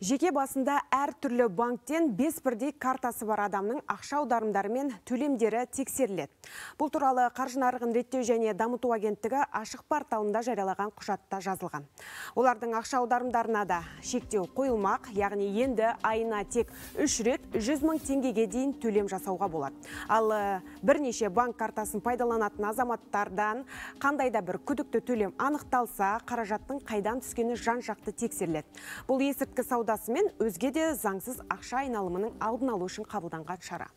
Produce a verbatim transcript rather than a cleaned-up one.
Жеке басында әр түрлі банктен бес бірдей картасы бар адамның ақша аударымдары мен төлемдері тексеріледі. Бұл туралы қаржы нарығын реттеу және дамыту агенттігі ашық порталында жариялаған құжатта жазылған. Олардың ақша аударымдарына да шектеу қойылмақ, яғни енді айына тек үш рет жүз мың теңгеге дейін төлем жасауға болады. Ал бірнеше банк картасын пайдаланатын азаматтардан қандай да бір күдікті төлем анықталса, қаражаттың қайдан түскені жан-жақты тексеріледі. Бұл есірткі саудасы мен өзге де заңсыз ақша айналымының алдын алу үшін қабылданған шара.